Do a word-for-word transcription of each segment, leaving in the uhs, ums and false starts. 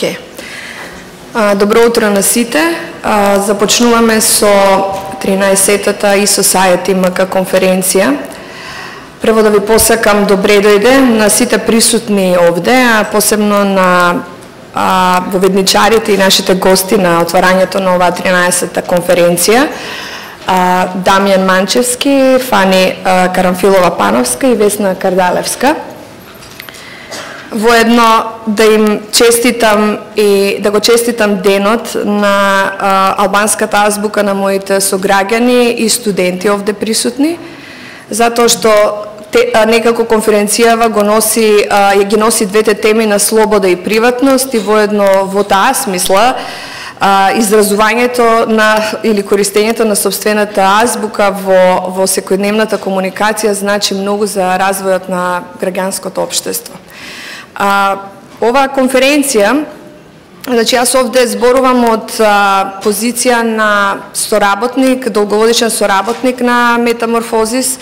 Океј. Добро утро на сите. Започнуваме со тринаесеттата e-Society ем ка конференција. Прво да ви посакам добре дојде на сите присутни овде, а посебно на а, воведничарите и нашите гости на отварањето на оваа тринаесеттата конференција. А, Дамјан Манчевски, Фани а, Карамфилова-Пановска и Весна Кардалевска. Воедно да им честитам и да го честитам денот на а, албанската азбука на моите сограѓани и студенти овде присутни, затоа што те, а, некако конференцијава го носи, а, ги носи двете теми на слобода и приватност и воедно во таа смисла а, изразувањето на или користењето на сопствената азбука во, во секојдневната комуникација значи многу за развојот на граѓанското општество. А, оваа конференција, значи јас овде зборувам од а, позиција на соработник, долгогодишен соработник на Метаморфозис,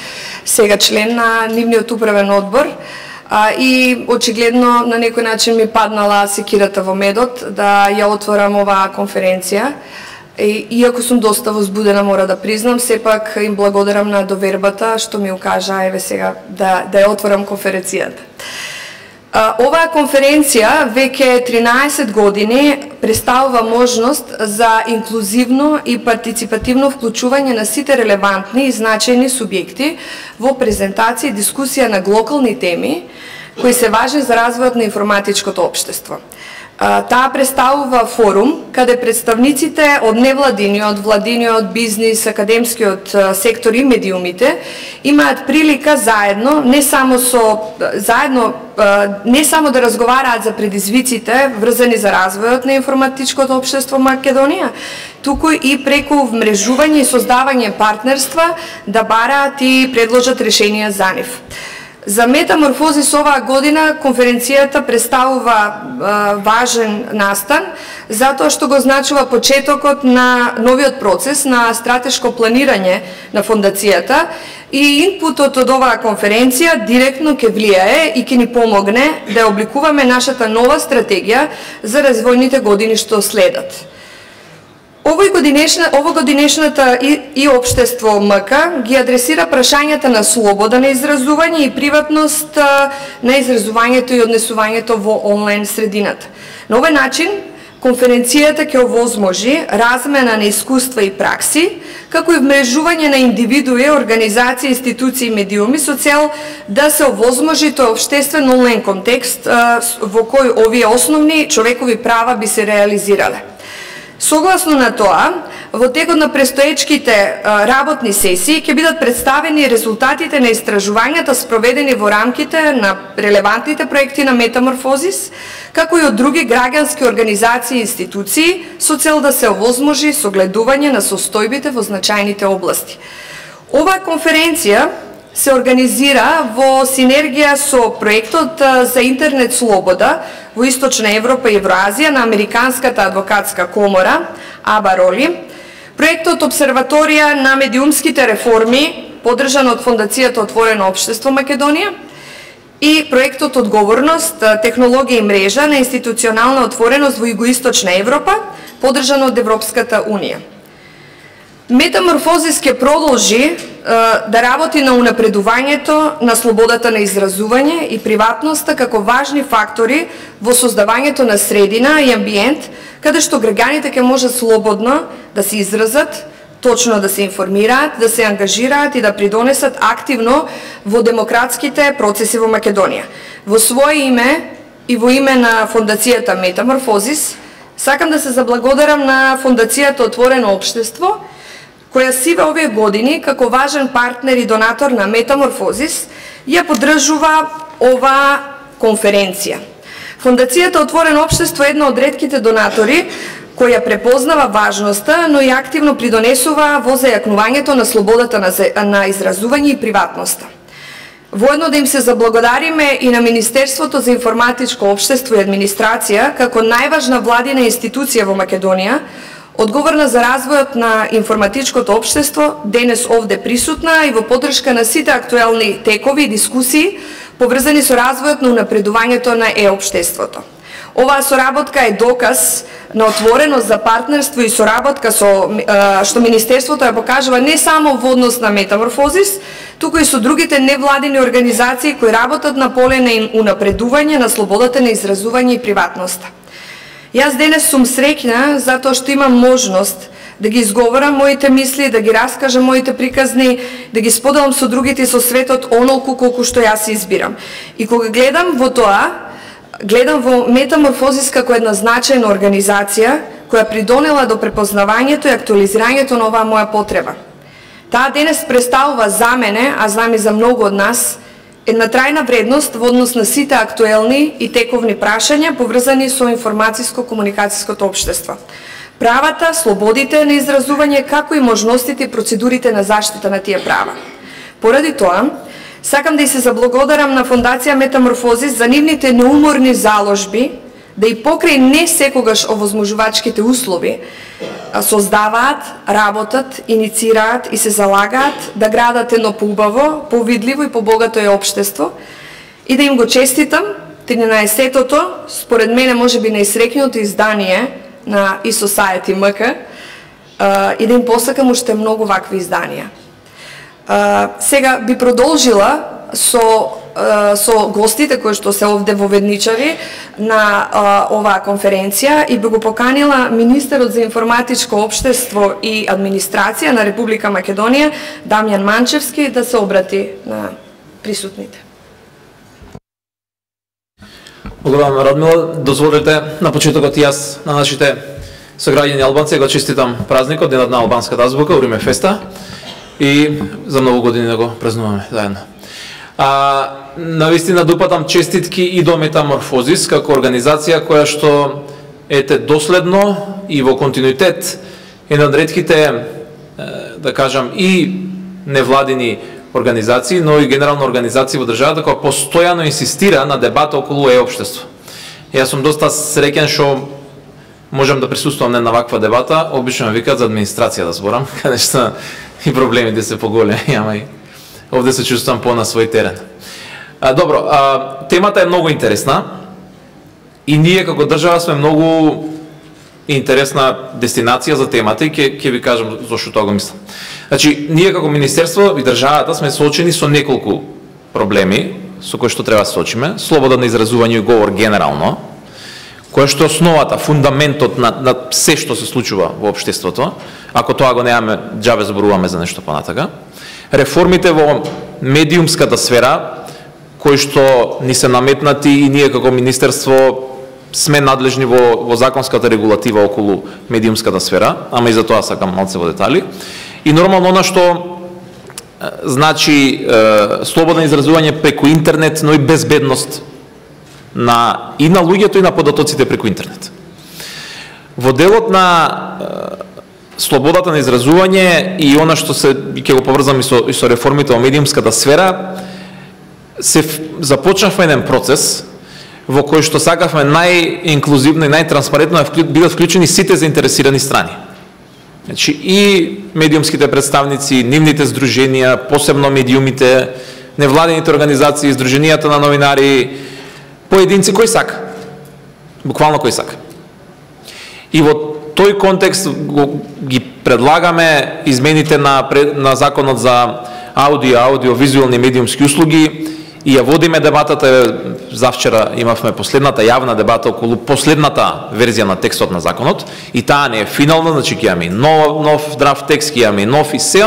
сега член на нивниот управен одбор, а, и очигледно на некој начин ми паднала секирата во медот да ја отворам оваа конференција. И, иако сум доста возбудена, мора да признам, сепак им благодарам на довербата што ми укажа еве сега да, да ја отворам конференцијата. Оваа конференција веќе тринаесет години представува можност за инклузивно и партиципативно вклучување на сите релевантни и значајни субјекти во презентација и дискусија на глокални теми кои се важни за развојот на информатичкото општество. Таа представува форум каде представниците од невладиниот, владиниот, бизнис, академскиот сектор и медиумите имаат прилика заедно, не само со заедно не само да разговараат за предизвиците врзани за развојот на информатичкото општество Македонија, туку и преку вмрежување и создавање партнерства да бараат и предложат решенија за нив. За Метаморфозис оваа година конференцијата представува а, важен настан, затоа што го значува почетокот на новиот процес на стратешко планирање на фондацијата и инпутот од оваа конференција директно ќе влијае и ќе ни помогне да обликуваме нашата нова стратегија за развојните години што следат. Овој годинешна, ово годинешната и, и општество МК ги адресира прашањата на слобода на изразување и приватност на изразувањето и однесувањето во онлайн средината. На овој начин, конференцијата ќе овозможи размена на искуства и пракси, како и вмрежување на индивидуи, организации, институции и медиуми со цел да се овозможи тој општествен онлайн контекст во кој овие основни човекови права би се реализирале. Согласно на тоа, во текот на престоечките работни сесии ќе бидат представени резултатите на истражувањата спроведени во рамките на релевантните проекти на Метаморфозис, како и од други граѓански организации и институции, со цел да се овозможи согледување на состојбите во значајните области. Оваа конференција се организира во синергија со проектот за интернет слобода во Источна Европа и Евроазија на Американската адвокатска комора, АБА-РОЛИ, проектот Обсерваторија на медиумските реформи, поддржан од Фондацијата Отворено општество Македонија, и проектот Одговорност, технологија и мрежа на институционална отвореност во Југоисточна Европа, поддржан од Европската Унија. Метаморфозис ќе продолжи е, да работи на унапредувањето на слободата на изразување и приватноста како важни фактори во создавањето на средина и амбиент каде што граѓаните ќе можат слободно да се изразат, точно да се информираат, да се ангажираат и да придонесат активно во демократските процеси во Македонија. Во свое име и во име на Фондацијата Метаморфозис сакам да се заблагодарам на Фондацијата Отворено општество, која сиве овие години како важен партнер и донатор на Метаморфозис ја поддржува оваа конференција. Фондацијата Отворено општество е една од ретките донатори која препознава важноста, но и активно придонесува во зајакнувањето на слободата на, на изразување и приватноста. Воедно да им се заблагодариме и на Министерството за информатичко општество и администрација како најважна владина институција во Македонија, одговорна за развојот на информатичкото општество, денес овде присутна и во поддршка на сите актуелни текови и дискусии поврзани со развојот на унапредувањето на е-општеството. Оваа соработка е доказ на отвореност за партнерство и соработка со што Министерството ја покажува не само во однос на Метаморфозис, туку и со другите невладини организации кои работат на поле на унапредување на слободата на изразување и приватноста. Јас денес сум среќна затоа што имам можност да ги изговорам моите мисли, да ги раскажам моите приказни, да ги споделам со другите и со светот онолку колку што јас избирам. И кога гледам во тоа, гледам во Метаморфозис како една значајна организација која придонела до препознавањето и актуализирањето на оваа моја потреба. Таа денес представува за мене, а знам и за многу од нас, една трајна вредност во однос на сите актуелни и тековни прашања поврзани со информатиско-комуникацијското општество. Правата, слободите на изразување, како и можностите и процедурите на заштита на тие права. Поради тоа, сакам да и се заблагодарам на Фондација Метаморфозис за нивните неуморни заложби, да и покрај не секогаш овозможувачките услови, создаваат, работат, иницираат и се залагаат да градат едно поубаво, повидливо и побогато е општество и да им го честитам тринаесеттото, според мене можеби најсреќното издание на e-Society ем ка и да им посакам уште многу вакви изданија. Сега би продолжила со со гостите кои што се овде воведничави на а, оваа конференција и би го поканила министерот за информатичко општество и администрација на Република Македонија Дамјан Манчевски да се обрати на присутните. Благодарам, Радмила. Дозволете на почетокот јас на нашите сограѓани албанци го честитам празникот, денот на албанската азбука, Уриме Феста, и за многу години да го празнуваме заедно. А, навистина допатам честитки и до Метаморфозис како организација која што ете доследно и во континуитет една од ретките, да кажам, и невладини организации, но и генерално организации во државата која постојано инсистира на дебата околу е-општество. Јас сум доста среќен што можам да присуствувам на ваква дебата, обично ме викаат за администрација да зборам, каде што и проблемите се поголеми, ама и овде се чувствувам по на свој терен. А, добро, а, темата е многу интересна и ние како држава сме многу интересна дестинација за темата и ќе ќе ви кажам зошто тоа го мислам. Значи, ние како министерство и државата сме соочени со неколку проблеми со кои што треба да се соочиме. Слобода на изразување и говор генерално, која што е основата, фундаментот на, на се што се случува во општеството. Ако тоа го немаме, џабе зборуваме за нешто понатака. Реформите во медиумската сфера, кои што ни се наметнати и ние како министерство сме надлежни во, во законската регулатива околу медиумската сфера, ама и за тоа сакам малце во детали. И нормално она што значи е, слободно изразување преку интернет, но и безбедност на и на луѓето и на податоците преку интернет. Во делот на е, слободата на изразување и она што се ќе го поврзам и со, и со реформите во медиумската сфера, се започнавме еден процес во кој што сакавме најинклузивно и најтранспарентно да бидат вклучени сите заинтересирани страни. Значи и медиумските представници, нивните здруженија, посебно медиумите, невладените организации, здруженијата на новинари, поединци кој сака. Буквално кој сака. И во тој контекст го, ги предлагаме измените на, на законот за аудио, аудио-визуелни медиумски услуги и ја водиме дебатата. Завчера имавме последната јавна дебата околу последната верзија на текстот на законот и таа не е финална, значи ќе имаме нов, нов драфт текст, ќе имаме нов и се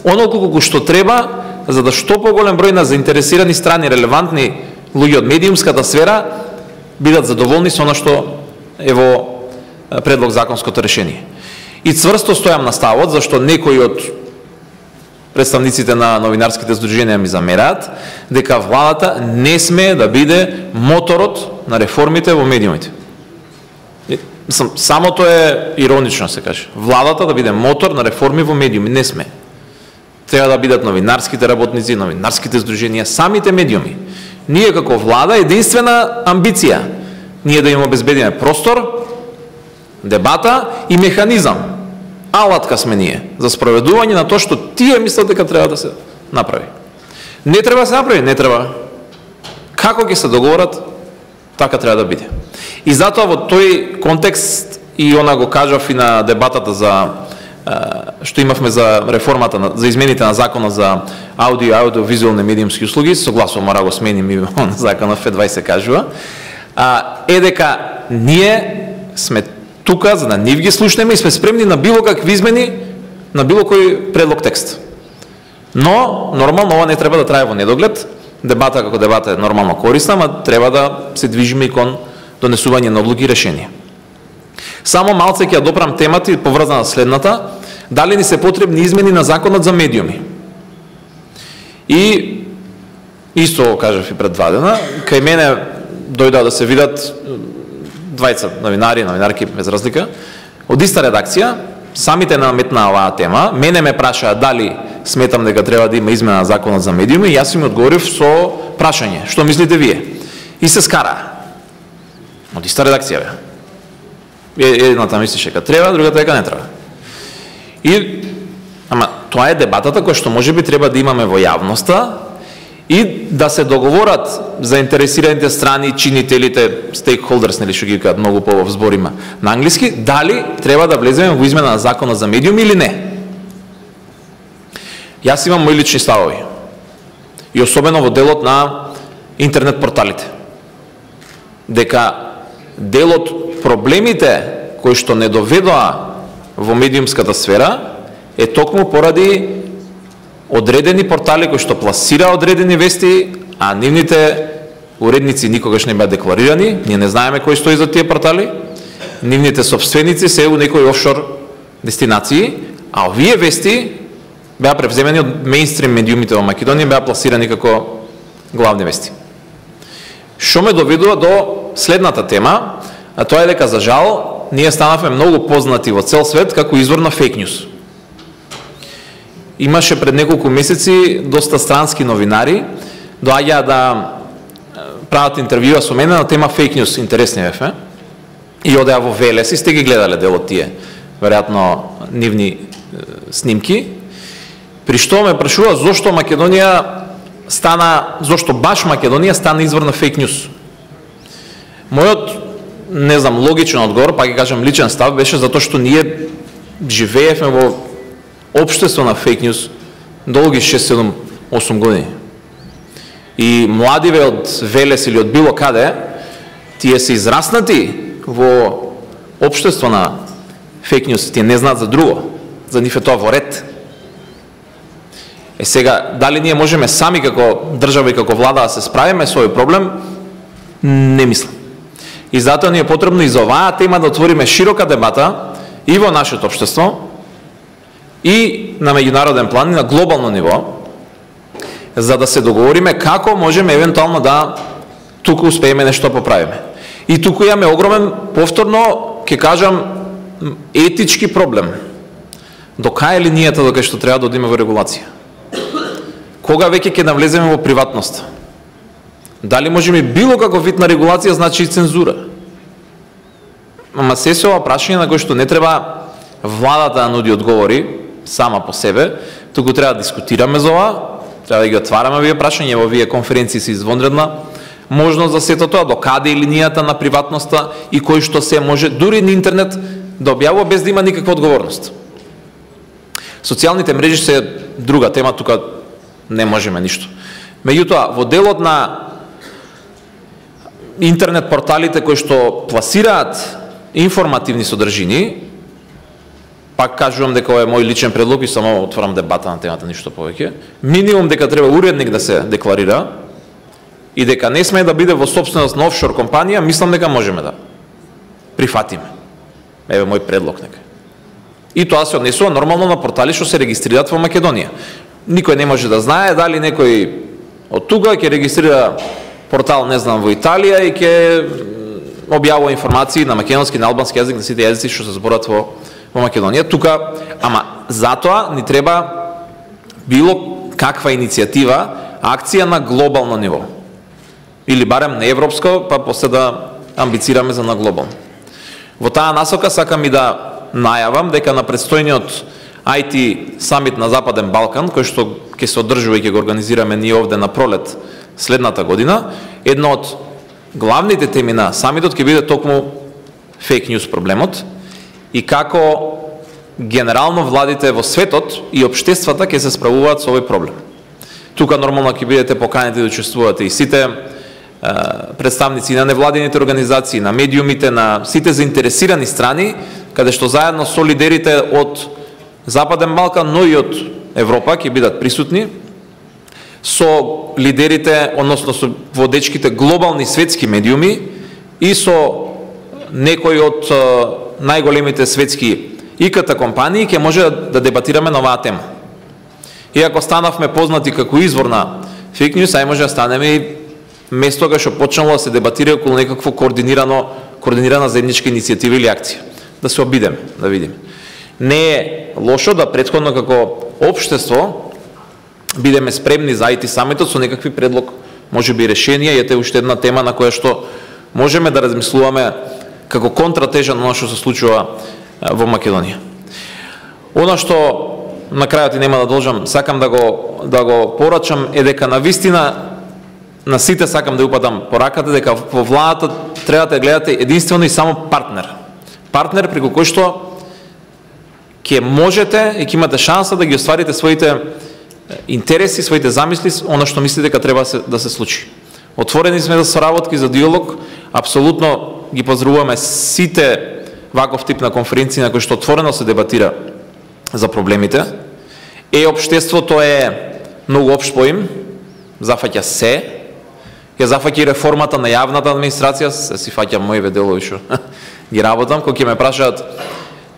оноliko колку што треба за да што поголем број на заинтересирани страни, релевантни луѓе од медиумската сфера бидат задоволни со она што е во предлог законското решение. И цврсто стојам на ставот, зашто некои од представниците на новинарските здруженија ми замераат дека владата не смее да биде моторот на реформите во медиумите. Мислам, самото е иронично се каже. Владата да биде мотор на реформи во медиуми не сме. Треба да бидат новинарските работници, новинарските здруженија, самите медиуми. Ние како влада единствена амбиција ние да им обезбедиме простор, дебата и механизам. Алатка сме ние за спроведување на тоа што тие мислат дека треба да се направи. Не треба да се направи, не треба. Како ќе се договорат, Така треба да биде. И затоа во тој контекст и она го кажав и на дебатата за што имавме за реформата за измените на законот за аудио и аудиовизуелни медиумски услуги, согласно мора го сменим и на законот Ф дваесет кажува, е дека ние сме тука за да нив ги слушнеме и сме спремни на било какви измени на било кој предлог текст. Но нормално ова не треба да трае во недоглед. Дебата како дебата е нормално корисна, ама треба да се движиме и кон донесување на одлуки и решенија. Само малце ќе ја допрам темата и поврзана следната, дали ни се потребни измени на законот за медиуми. И исто кажав и пред два дена, кај мене дојдоа да се видат двајца новинари, новинарки без разлика, од иста редакција, самите наметнаа оваа тема, мене ме прашаа дали сметам дека треба да има измена на законот за медиуми и јас им одговорив со прашање, што мислите вие? И се скара. Од иста редакција бе. Едната мислише дека треба, другата дека не треба. И ама тоа е дебатата која што можеби треба да имаме во јавноста и да се договорат заинтересираните страни, чинителите, stakeholders, нели што ги кажат многу по зборима на англиски, дали треба да влеземе во измена на законот за медиуми или не. Јас имам мои лични ставови. И особено во делот на интернет порталите. Дека дел од проблемите кои што не доведоа во медиумската сфера е токму поради одредени портали кои што пласира одредени вести, а нивните уредници никогаш не беа декларирани, ние не знаеме кој стои за тие портали, нивните собственици се у некои офшор дестинации, а овие вести беа превземени од мејнстрим медиумите во Македонија, беа пласирани како главни вести. Што ме доведува до следната тема, а тоа е дека за жал ние станавме многу познати во цел свет како извор на фейк нюс. Имаше пред неколку месеци доста странски новинари доаѓаа да прават интервјуа со мене на тема фейк нюс, интересни бевме, и одеа во Велес и сте ги гледале дел од тие веројатно нивни снимки, при што ме прашува зошто Македонија стана, зошто баш Македонија стана извор на фейк нюс. Мојот, не знам, логичен одговор, па ќе кажам личен став, беше затоа што ние живеевме во општество на фейк нюс долги шест, седум, осум години. И младиве од Велес или од било каде, тие се израснати во општество на фейк нюс, тие не знаат за друго, за нив е тоа во ред. Е сега, дали ние можеме сами како држава и како влада да се справиме со овој проблем, не мислам. И затоа ни е потребно и за оваа тема да отвориме широка дебата и во нашето општество, и на меѓународен план, и на глобално ниво, за да се договориме како можеме евентуално да туку успееме нешто поправиме. И туку имаме огромен, повторно, ќе кажам, етички проблем. До кај е линијата до кај што треба да одиме во регулација? Кога веќе ќе навлеземе во приватност? Дали можеме било каков вид на регулација значи и цензура? Ама се се ова прашање на кој што не треба владата да нуди одговори сама по себе, туку треба да дискутираме за ова, треба да ги отвараме овие прашања, во овие конференции се извонредна можност за сето тоа, до каде е линијата на приватноста и кој што се може дури на интернет да објавува без да има никаква одговорност. Социјалните мрежи се друга тема, тука не можеме ништо. Меѓутоа, во делот на интернет порталите кои што пласираат информативни содржини, пак кажувам дека ова е мој личен предлог и само отварам дебата на темата, ништо повеќе, минимум дека треба уредник да се декларира и дека не смее да биде во собственост на офшор компанија, мислам дека можеме да прифатиме. Еве мој предлог нека. И тоа се однесува нормално на портали што се регистрираат во Македонија. Никој не може да знае дали некој од тука ќе регистрира портал, не знам, во Италија и ќе објавува информации на македонски, на албански јазик, на сите јазици што се зборат во, во Македонија. Тука, ама затоа ни треба било каква иницијатива, акција на глобално ниво. Или барем на европско, па после да амбицираме за на глобално. Во таа насока сакам и да најавам дека на предстојниот ай ти самит на Западен Балкан, кој што ќе се одржува и ќе го организираме ние овде на пролет следната година, едно од главните теми на самитот ќе биде токму фейк ньюс проблемот и како генерално владите во светот и општествата ќе се справуваат со овој проблем. Тука нормално ќе бидете поканети да учествувате и сите представници на невладините организации, на медиумите, на сите заинтересирани страни, каде што заедно со лидерите од Западен Балкан, но и од Европа ќе бидат присутни, со лидерите, односно со водечките глобални светски медиуми и со некои од најголемите светски И КТ компании ќе може да дебатираме на оваа тема. И ако станавме познати како извор на фейк ньюс, ај може да станеме и место кај што почнало да се дебатира околу некакво координирано, координирана заедничка иницијатива или акција. Да се обидеме, да видиме. Не е лошо да претходно како општество бидеме спремни за ай ти самитот со некакви предлог, може би решенија, и ете уште една тема на која што можеме да размислуваме како контратежа на оно што се случува во Македонија. Оно што на крајот и нема да должам, сакам да го да го порачам е дека на вистина на сите сакам да упатам пораката дека во владата треба да гледате единствено и само партнер. Партнер преку кој што ќе можете и ќе имате шанса да ги остварите своите интереси, своите замисли, оно што мислите дека треба да се случи. Отворени сме за соработки, за диалог, апсолутно ги поздравуваме сите ваков тип на конференции на кои што отворено се дебатира за проблемите. Е, општеството е многу општ поим, зафаќа се, ја зафаќа и реформата на јавната администрација, се си фаќам моите делови што ги работам, кога ќе ме прашаат,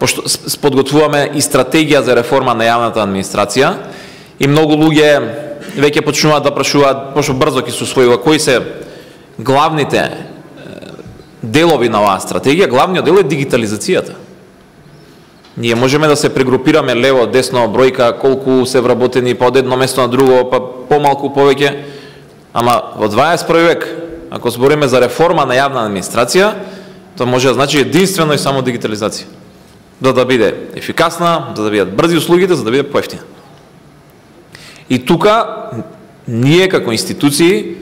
пошто подготвуваме и стратегија за реформа на јавната администрација, и многу луѓе веќе почнуваат да прашуваат, пошто брзо ќе се усвојува, кои се главните делови на оваа стратегија. Главниот дел е дигитализацијата. Ние можеме да се прегрупираме лево, десно, бројка, колку се вработени па од едно место на друго, па помалку, повеќе, ама во дваесет први век, ако збориме за реформа на јавна администрација, тоа може да значи единствено и само дигитализација. Да да биде ефикасна, да да бидат брзи услугите, за да биде поевтина. И тука, ние како институции,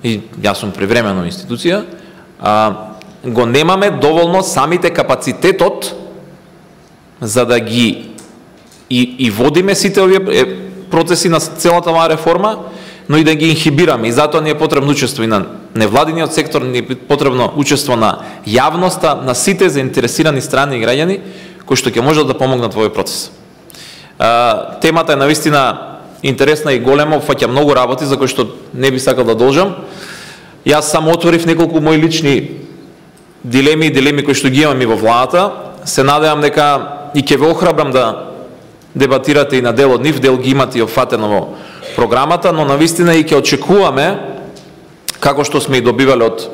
и јас сум привремено институција, а, го немаме доволно самите капацитетот за да ги и, и водиме сите овие процеси на целата оваа реформа, но и да ги инхибираме. И затоа ни е потребно учество и на невладиниот сектор, ни е потребно учество на јавноста, на сите заинтересирани страни и граѓани кои што ќе можат да помогнат во овој процес. А, темата е навистина интересна и голема, опфаќа многу работи за кои што не би сакал да должам. Јас само отворив неколку мои лични дилеми и дилеми кои што ги имам и во владата. Се надевам дека и ќе ве охрабрам да дебатирате и на дел од нив, дел ги имате и опфатено во програмата, но навистина и ќе очекуваме, како што сме и добивале од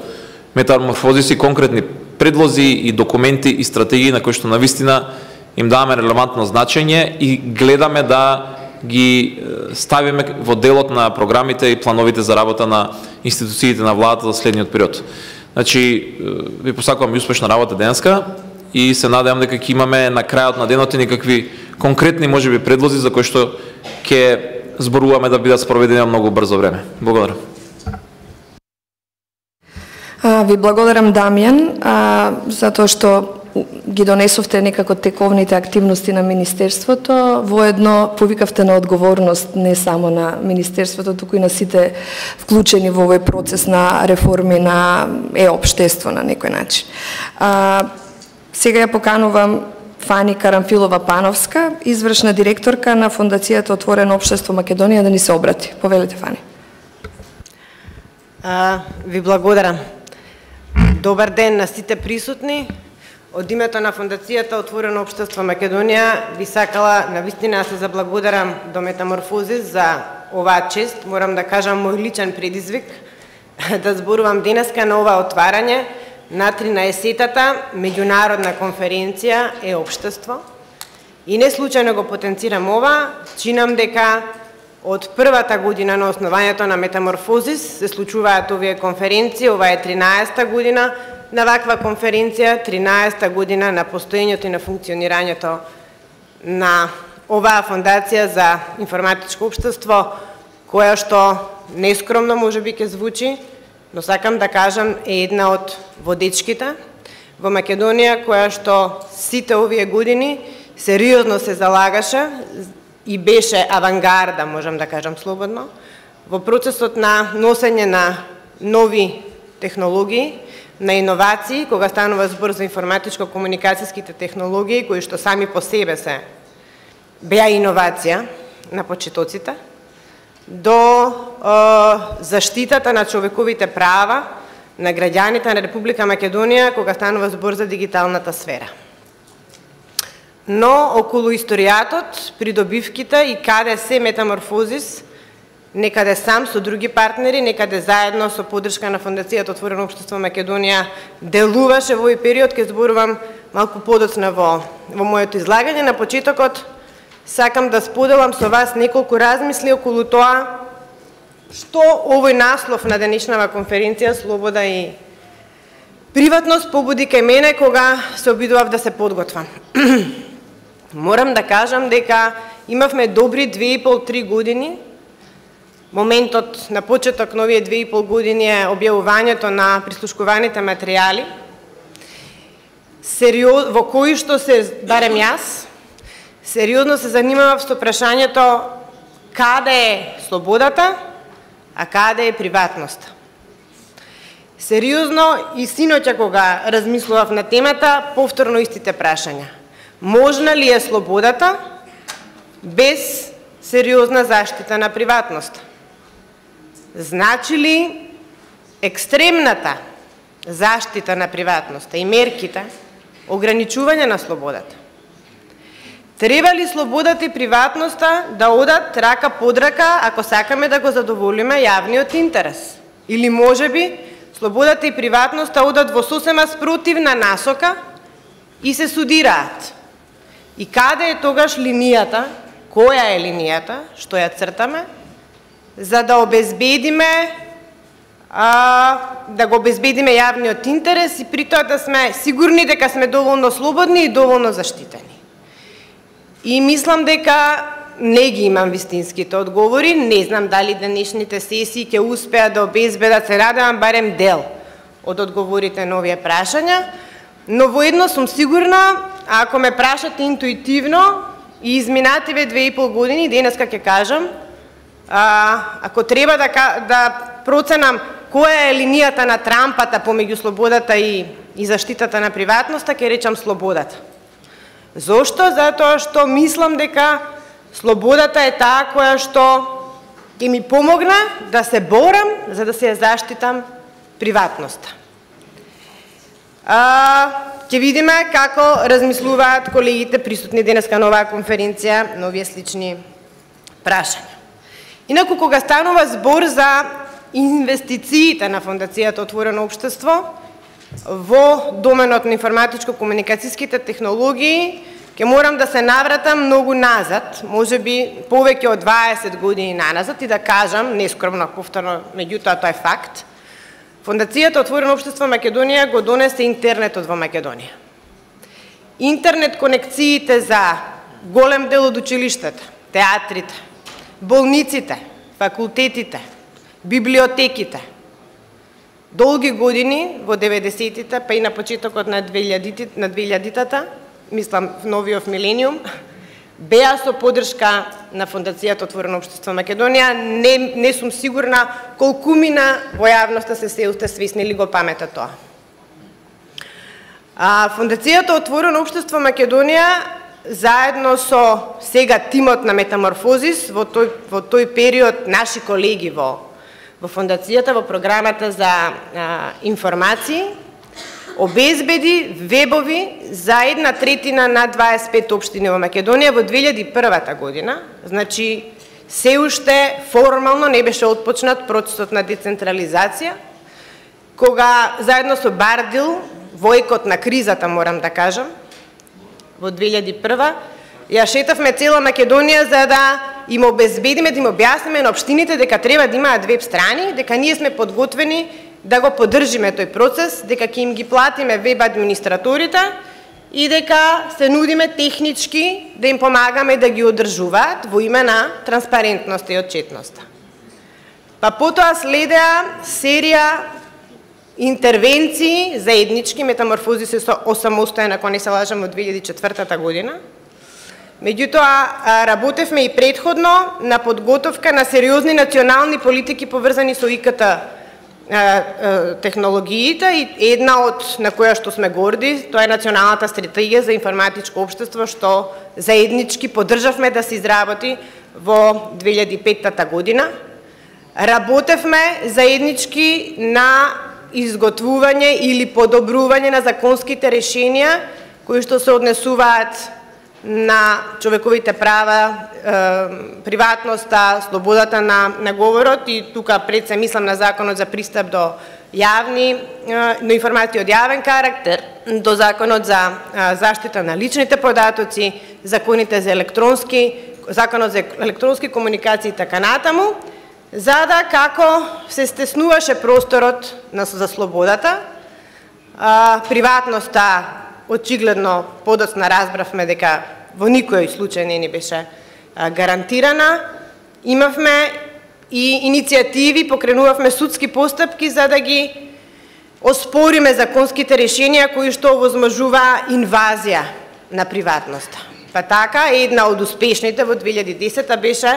Метаморфозис, и конкретни предлози и документи и стратегии на кои што навистина им даваме релевантно значење и гледаме да ги ставиме во делот на програмите и плановите за работа на институциите на владата за следниот период. Значи, ви посакувам и успешна работа денеска и се надевам дека ќе имаме на крајот на денот и некакви конкретни можеби предлози за кои што ќе зборуваме да бидат спроведени многу брзо време. Благодарам. А, ви благодарам, Дамјан, а, затоа што ги донесовте некако тековните активности на Министерството, воедно повикавте на одговорност не само на Министерството, туку и на сите вклучени во овој процес на реформи на е-општество на некој начин. А, сега ја поканувам Фани Карамфилова-Пановска, извршна директорка на Фондацијата Отворено општество Македонија, да ни се обрати. Повелете, Фани. А, ви благодарам. Добар ден на сите присутни. Од името на Фондацијата Отворено општество Македонија би сакала навистина да се заблагодарам до Метаморфозис за оваа чест. Морам да кажам мој личен предизвик да зборувам денеска на ова отварање на тринаесеттата меѓународна конференција е општество. И не случајно го потенцирам ова, чинам дека од првата година на основањето на Метаморфозис се случуваат овие конференции, ова е тринаесета година на ваква конференција, тринаесета година на постоењето и на функционирањето на оваа фондација за информатичко општество, која што нескромно можеби ќе звучи, но сакам да кажам е една од водечките во Македонија која што сите овие години сериозно се залагаше и беше авангарда, можам да кажам слободно, во процесот на носење на нови технологии, на иновации, кога станува збор за информатичко-комуникацијските технологии, кои што сами по себе се беа иновација на почетоците, до е, заштитата на човековите права на граѓаните на Република Македонија, кога станува збор за дигиталната сфера. Но околу историјатот, придобивките и каде се метаморфозис, некаде сам со други партнери, некаде заедно со поддршка на Фондацијата Отворено општество Македонија делуваше во овој период, ке зборувам малку подоцна во, во моето излагање. На почетокот сакам да споделам со вас неколку размисли околу тоа што овој наслов на денешнава конференција Слобода и приватност побуди кај мене кога се обидував да се подготвам. Морам да кажам дека имавме добри две и пол три години. Моментот на почеток на овие две и пол години е објавувањето на прислушкуваните материјали, сериоз, во кои што се, барем јас, сериозно се занимавав со прашањето каде е слободата, а каде е приватноста. Сериозно и синоќа кога размислував на темата, повторно истите прашања. Можна ли е слободата без сериозна заштита на приватноста? Значи ли екстремната заштита на приватноста и мерките ограничување на слободата? Треба ли слободата и приватноста да одат рака под рака ако сакаме да го задоволиме јавниот интерес? Или можеби слободата и приватноста одат во сосема спротивна насока и се судираат? И каде е тогаш линијата, која е линијата што ја цртаме, за да обезбедиме а, да го обезбедиме јавниот интерес и при тоа да сме сигурни дека сме доволно слободни и доволно заштитени? И мислам дека не ги имам вистинските одговори, не знам дали денешните сесии ќе успеат да обезбедат, се радевам барем дел од одговорите на овие прашања, но во едно сум сигурна, ако ме прашате интуитивно и изминативе две и пол години, денеска ќе кажам, а, ако треба да, да проценам која е линијата на трампата помеѓу слободата и, и заштитата на приватноста, ќе речам слободата. Зошто? Затоа што мислам дека слободата е таа која што ќе ми помогне да се борам за да се ја заштитам приватноста. А, ќе видиме како размислуваат колегите присутни денеска на оваа конференција на овие слични прашања. Инаку кога станува збор за инвестициите на Фондацијата Отворено општество во доменот на информатичко-комуникацијските технологии, ќе морам да се навратам многу назад, можеби повеќе од дваесет години наназад и да кажам, нескромно повторно, меѓутоа тоа е факт, Фондацијата Отворено општество Македонија го донесе интернетот во Македонија. Интернет конекциите за голем дел од училиштата, театрите, болниците, факултетите, библиотеките. Долги години, во деветдесетите, па и на почетокот на двеилјадитата, мислам в новиот милениум, беа со поддршка на Фондацијата Отворено општество Македонија. Не, не сум сигурна колкумина во јавноста се се уште свесни или го памета тоа. А, Фондацијата Отворено општество Македонија заедно со сега тимот на Метаморфозис во тој, во тој период наши колеги во, во Фондацијата, во програмата за а, информации, обезбеди вебови за една третина на дваесет и пет општини во Македонија во две илјади и прва година. Значи, се уште формално не беше отпочнат процесот на децентрализација, кога заедно со Бардил, војкот на кризата, морам да кажам, во две илјади и прва, ја шетавме цела Македонија за да им обезбедиме, да им објасниме на општините дека треба да имаат веб страни, дека ние сме подготвени да го поддржиме тој процес, дека ќе им ги платиме веб администраторите и дека се нудиме технички да им помагаме да ги одржуваат во име на транспарентноста и отчетноста. Па потоа следеа серија интервенции заеднички, метаморфози се осамостоен, ако не се лажам, од две илјади и четвртата година. Меѓутоа, работевме и предходно на подготовка на сериозни национални политики поврзани со И К Т технологиите, и една од на која што сме горди, тоа е Националната стратегија за информатичко општество, што заеднички поддржавме да се изработи во две илјади и петта година. Работевме заеднички на изготвување или подобрување на законските решенија кои што се однесуваат на човековите права, е, приватноста, слободата на, на говорот, и тука пред се мислам на Законот за пристап до јавни, е, до информации од јавен карактер, до Законот за е, заштита на личните податоци, законите за електронски, Законот за електронски комуникации и така натаму, за да како се стеснуваше просторот на, за слободата, а, приватноста, очигледно подоцна разбравме дека во никој случај не ни беше а, гарантирана. Имавме и иницијативи, покренувавме судски постапки за да ги оспориме законските решенија кои што овозможува инвазија на приватноста. Па така, една од успешните во две илјади и десета беше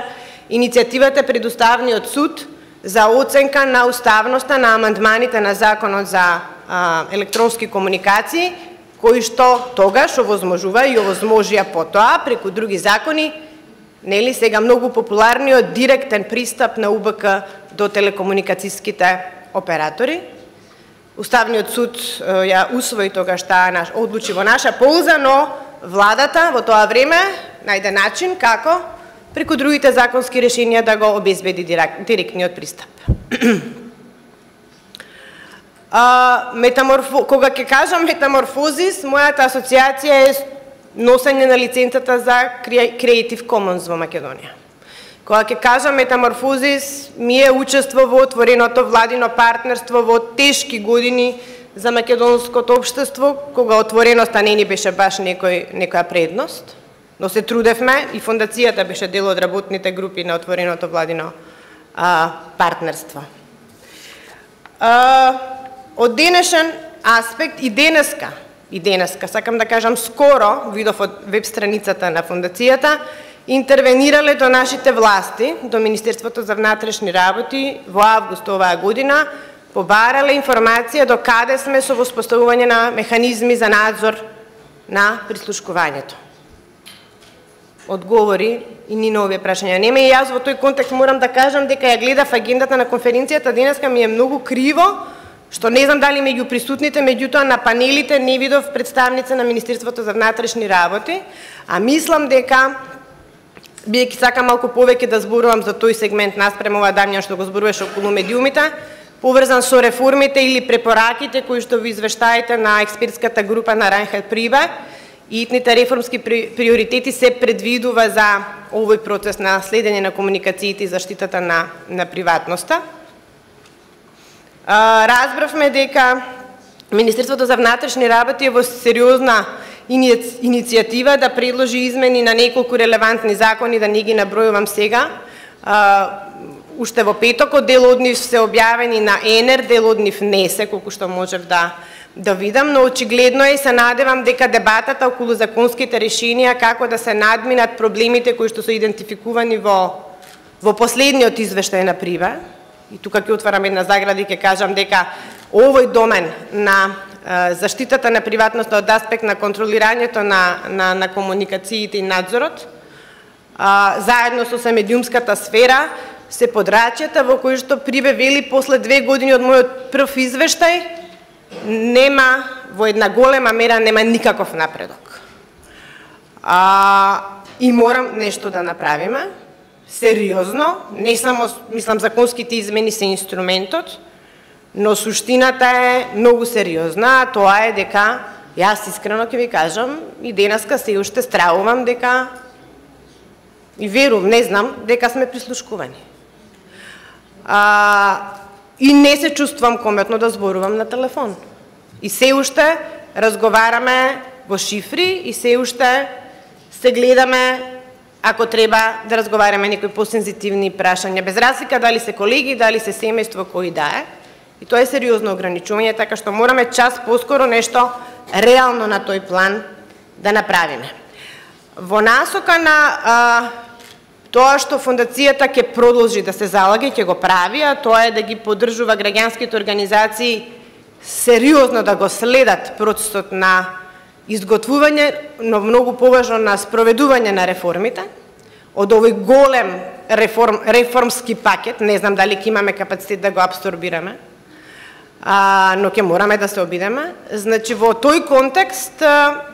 иницијативата пред Уставниот суд за оценка на уставноста на амандманите на Законот за а, електронски комуникации, кои што тогаш овозможува и овозможија потоа преку други закони, нели сега многу популарниот директен пристап на У Б К до телекомуникацијските оператори. Уставниот суд ја усвои тогаш таа наш одлучи во наша полза, но владата во тоа време најде начин како преку другите законски решенија да го обезбеди директниот пристап. А, метаморфо... Кога ќе кажам метаморфозис, мојата асоциација е носење на лиценцата за Creative Commons во Македонија. Кога ќе кажам метаморфозис, ми е учество во отвореното владино партнерство во тешки години за македонското општество, кога отвореноста не ни беше баш некој, некоја предност, но се трудевме и фондацијата беше дел од работните групи на отвореното владино а, партнерство. А, од денешен аспект и денеска, и денеска, сакам да кажам скоро, видов од веб страницата на фондацијата, интервенирале до нашите власти, до Министерството за внатрешни работи во август оваа година, побарале информација до каде сме со воспоставување на механизми за надзор на прислушкувањето. Одговори и ни на овие прашања нема, и јас во тој контекст морам да кажам дека ја гледав агендата на конференцијата денеска, ми е многу криво, што не знам дали меѓу присутните, меѓутоа на панелите не видов представница на Министерството за внатрешни работи, а мислам дека, бидејќи сакам малку повеќе да зборувам за тој сегмент наспрема ова Дамјан што го зборуваше околу медиумите, поврзан со реформите или препораките кои што во извештаите на експертската група на Райнхард Прибе, и итните реформски приоритети се предвидува за овој процес на следење на комуникациите и заштитата на, на приватноста. А, разбравме дека Министерството за внатрешни работи е во сериозна иницијатива да предложи измени на неколку релевантни закони, да не ги набројувам сега. А, уште во петокот дел од нив се објавени на Енер, дел од нив не се, колку што можев да да видам, но очигледно е и се надевам дека дебатата околу законските решенија како да се надминат проблемите кои што се идентификувани во во последниот извештај на Прибе, и тука ќе отварам една заграда и ќе кажам дека овој домен на е, заштитата на приватноста од аспект на контролирањето на на, на комуникациите и надзорот, а, заедно со медиумската сфера, се подрачјата во кои што Прибе вели после две години од мојот прв извештај нема, во една голема мера нема никаков напредок. А, и морам нешто да направиме, сериозно, не само, мислам, законските измени се инструментот, но суштината е многу сериозна, а тоа е дека, јас искрено ќе ви кажам, и денеска се уште стравувам дека, и верувам, не знам, дека сме прислушкувани. А, и не се чувствувам кометно да зборувам на телефон. И се уште разговараме во шифри, и се уште се гледаме, ако треба да разговараме некои посензитивни прашања, без разлика дали се колеги, дали се семејство, кои да е. И тоа е сериозно ограничување, така што мораме час поскоро нешто реално на тој план да направиме. Во насока на а, тоа што фондацијата ќе продолжи да се залага и ќе го прави, а тоа е да ги поддржува граѓанските организации сериозно да го следат процесот на изготвување, но многу поважно на спроведување на реформите, од овој голем реформ, реформски пакет, не знам дали ќе имаме капацитет да го абсорбираме, а, но ќе мораме да се обидеме. Значи, во тој контекст, а,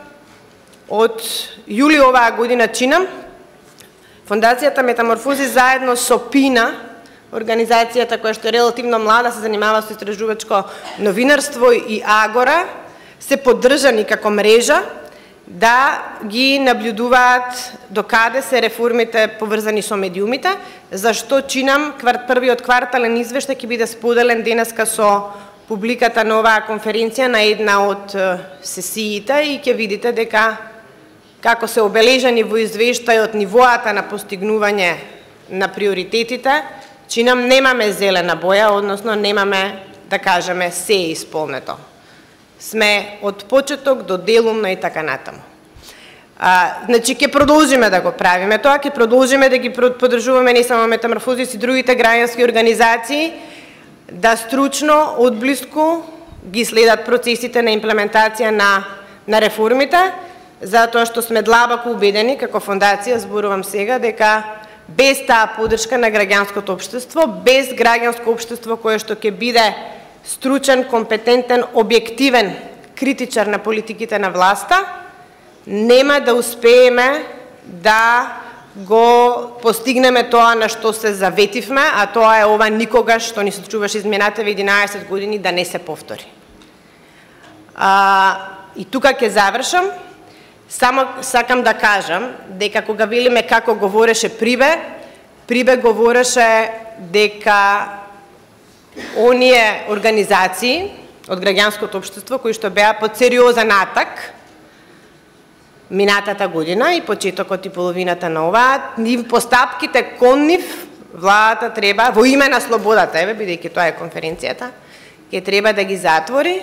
од јули оваа година чинам, Фондацијата Метаморфози заедно со ПИНА, организацијата која што е релативно млада, се занимава со истражувачко новинарство, и Агора, се поддржани како мрежа да ги наблюдуваат докаде се реформите поврзани со медиумите, зашто чинам првиот квартален извештај ќе биде споделен денеска со публиката на оваа конференција на една од сесиите и ќе видите дека како се обележани во извештајот нивоата на постигнување на приоритетите, чинам немаме зелена боја, односно немаме, да кажеме, се е исполнето. Сме од почеток до делумно и така натаму. А, значи, ќе продолжиме да го правиме тоа, ќе продолжиме да ги поддржуваме не само Метаморфози, и другите граѓански организации, да стручно, одблиску ги следат процесите на имплементација на, на реформите, затоа што сме длабоко убедени, како фондација, зборувам сега, дека без таа поддршка на граѓанското општество, без граѓанско општество кое што ќе биде стручен, компетентен, објективен критичар на политиките на власта, нема да успееме да го постигнеме тоа на што се заветивме, а тоа е ова никогаш што ни се случуваше изминативе единаесет години да не се повтори. А, и тука ќе завршам. Само сакам да кажам дека кога велиме како говореше Прибе, Прибе говореше дека оние организации од граѓанското општество кои што беа под сериозен атак минатата година и почетокот и половината на оваа, нив постапките кон нив, владата треба, во име на слободата, еве, бидејќи тоа е конференцијата, ќе треба да ги затвори,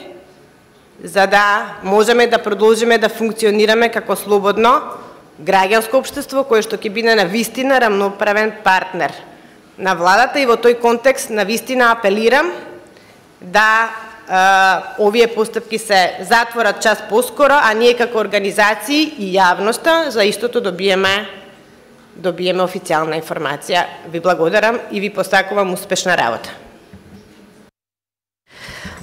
за да можеме да продолжиме да функционираме како слободно граѓанско општество, кое што ќе биде на вистина рамноправен партнер на владата, и во тој контекст на вистина апелирам да Uh, овие постапки се затворат час поскоро, а ние како организации и јавноста за истото добиеме добиеме официјална информација. Ви благодарам и ви посакувам успешна работа.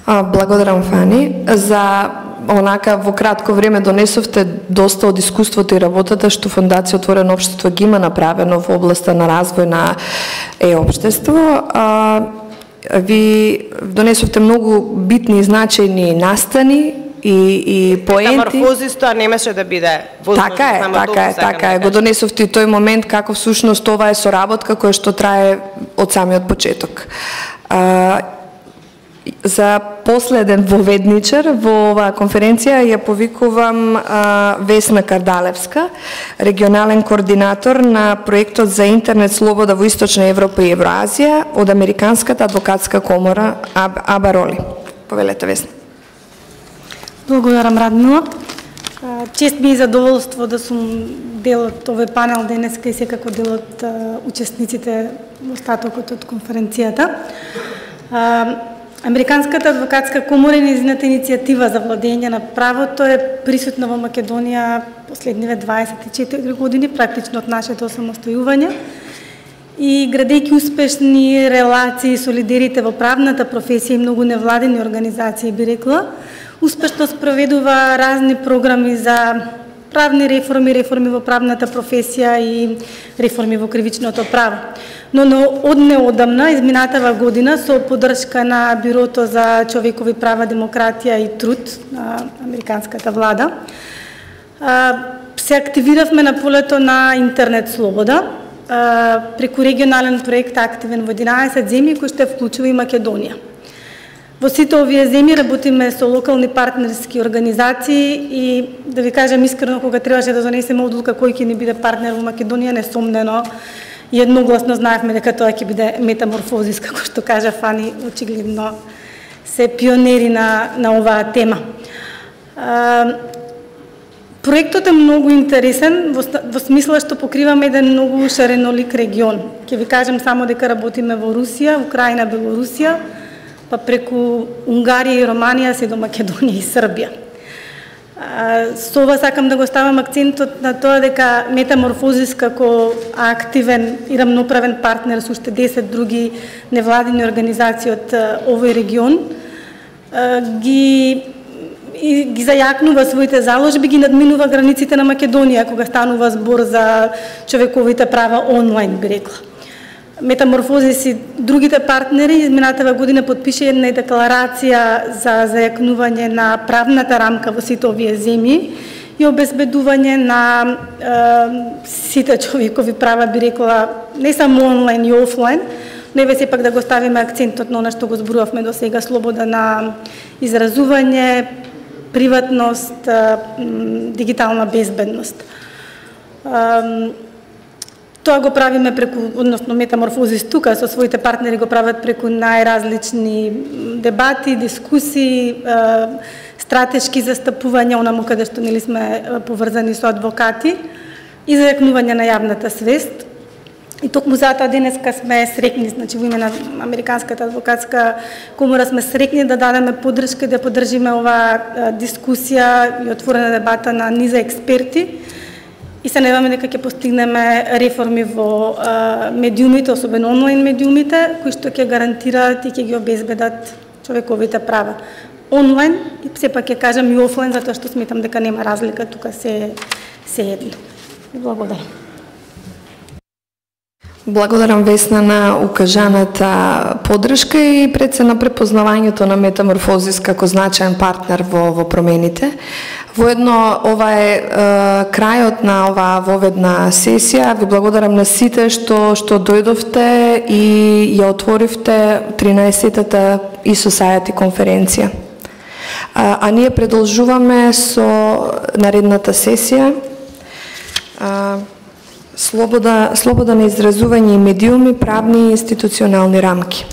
А, благодарам, Фани. За онака во кратко време донесовте доста од искуството и работата што Фондација Отворено општество ги има направено во областа на развој на е-општество. А, Ви донесовте многу битни и значајни настани и, и поенти. Метаморфозис тоа немаше да биде возможно. Така е, така е, така е. Го донесовте и тој момент како всушност ова е соработка која што трае од самиот почеток. А, за последен воведничар во оваа конференција ја повикувам а, Весна Кардалевска, регионален координатор на проектот за интернет слобода во Источна Европа и Евроазија од Американската адвокатска комора Абароли. Повелете, Весна. Благодарам, Радмила. Чест ми и задоволство да сум дел од овој панел денеска и секако дел од учесниците во остатокот од конференцијата. Американската адвокатска комора и нејзината иницијатива за владење на правото е присутна во Македонија последниве дваесет и четири години, практично од нашето самостојување. И градејќи успешни релации со лидерите во правната професија и многу невладени организации, би рекла, успешно спроведува разни програми за правни реформи, реформи во правната професија и реформи во кривичното право. Но од неодамна, изминатава година, со поддршка на Бюрото за човекови права, демократија и труд на американската влада, се активиравме на полето на интернет слобода, преку регионален проект активен во единаесет земји, кој ще вклучува и Македонија. Во сите овие земји работиме со локални партнерски организации и, да ви кажам искрено, кога требаше да донесеме одлука кој ќе ни биде партнер во Македонија, несомнено едногласно знаевме дека тоа ќе биде Метаморфозис, како што кажа Фани, очигледно се пионери на, на оваа тема. А, проектот е многу интересен во, во смисла што покриваме еден многу шаренолик регион. Ќе ви кажем само дека работиме во Русија, Украина, Белорусија, па преку Унгарија и Романија се до Македонија и Србија. Со ова сакам да го ставам акцентот на тоа дека Метаморфозис како активен и рамноправен партнер со уште десет други невладини организации од овој регион ги ги зајакнува своите заложби, ги надминува границите на Македонија кога станува збор за човековите права онлайн, би рекла. Метаморфозис и другите партнери изминатава година потпише една декларација за зајакнување на правната рамка во сите овие земји и обезбедување на е, сите човекови права, би рекла, не само онлайн и офлайн, но еве сепак да го ставиме акцентот на она што го зборувавме до сега, слобода на изразување, приватност, дигитална безбедност. Тоа го правиме преку, односно Метаморфозис тука со своите партнери го прават преку најразлични дебати, дискусии, стратешки застапувања, онаму каде што нели сме поврзани со адвокати и зајакнување на јавната свест. И токму затоа денеска сме срекни, значи во име на Американската адвокатска комора сме срекни да дадеме поддршка и да поддржиме оваа дискусија и отворена дебата на низа експерти. И се надеваме дека ќе постигнеме реформи во а, медиумите, особено онлайн медиумите, кои што ќе гарантираат и ќе ги обезбедат човековите права. Онлайн и сепак ќе кажам и офлайн, затоа што сметам дека нема разлика, тука се се едно. Благодарам. Благодарам, Весна, на укажаната поддршка и пред се на препознавањето на Метаморфозис како значаен партнер во, во промените. Воедно, ова е, е крајот на оваа воведна сесија. Ви благодарам на сите што што дојдовте и ја отворивте тринаесеттата e-Society конференција. А, а ние продолжуваме со наредната сесија. А, Слобода, слобода на изразување и медиуми, правни и институционални рамки.